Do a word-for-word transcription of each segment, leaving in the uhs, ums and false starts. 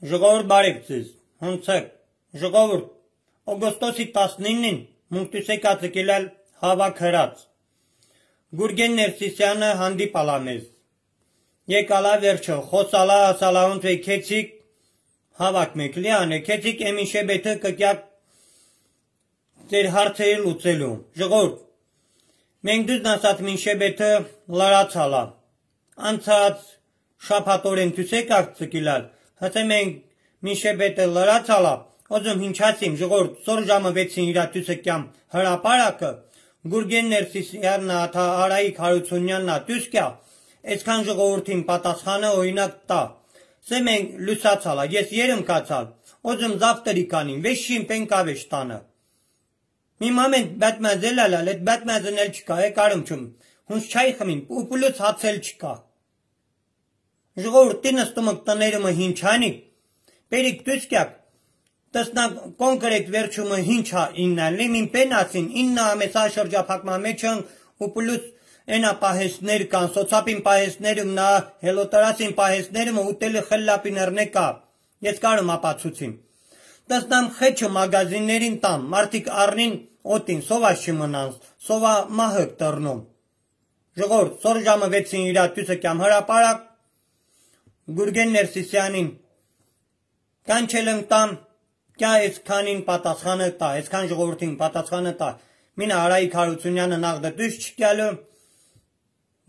Ժողովուրդ բարև ձեզ, հունցեք, ժողովուրդ, օգոստոսի տասնինին մունկտուսեկ ածկելալ հավաք հրած, Գուրգեն Ներսիսյանը հանդիպալա մեզ, եկալա վերջը, խոսալա ասալաունդ վե կեցիկ հավաք մեկ լիան է, կեցիկ էմիշե բեթը կկյակ ձեր հարցերի լուծելու, ժողովուրդ, մենք դուզ նասած մինշե բեթը լարացալա, անցած շապատորեն թուսեք աղցկիլալ, հսե մենք մինշե բետը լրացալա, ոզում հինչացիմ ժողորդ սոր ժամը վեցին իրատուսը կյամ հրապարակը, Գուրգեն Ներսիսյանն աթա Արայիկ Հարությունյանն ատուսկյա, այսքան ժողովրդին պատասխանը օրինակ տա, սե մենք լուսացալա, ես երմ կացալ, ոզում զավտերի կանին, վեշին պենկավեշ տանը, մի մամենտ բատմազել ալալ, էտ բատմազն էլ չկա, է կարում չում, հունց չայ խմին, ուպուլուց հացել չկա, ժողովուրդ տինստումը տներումը հինչանի, Պերիկ դուսկյակ, տսնակ կոնկրետ վերջումը հինչա իննան, լիմին պենասին, իննա ամեսա շրջապակմա մեջն ու պլուս ենա պահեսներ կան, սոցապին պահեսներում նա հելոտարասին պահեսներում ուտելի խլլապիներ նեկա, ես կարում ապացուցիմ, տսնամ խեչը մագազիններին տամ, մարդիկ առնին օտին, սովա շիմնանց, սովա մահըկ տրնում, ժողորդ, սոր ժամը վեցին իրատուսը կյամ հրապարակ, Գուրգեն Ներսիսյանին, Կանչել եմ տամ, կյա այսքանին պատասխանը տա, այսքան ժողովրդին պատասխանը տա, մինը Արայիկ Հարությունյանը նախ դտուս չկյալու,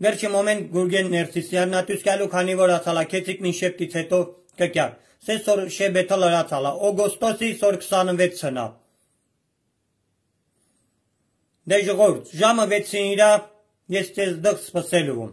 վերջի մոմենտ Գուրգեն Ներսիսյանն ատուս կյալու, քանի որ ասալա կեցիկ մին շեպտից հետո կկյալ, սե սոր շեբետը լրացալա, օգոստոսի սոր քսանվեցնա, դե ժողովուրդ, ժամը վեցին իրա, ես տես դղ սպսելուվում,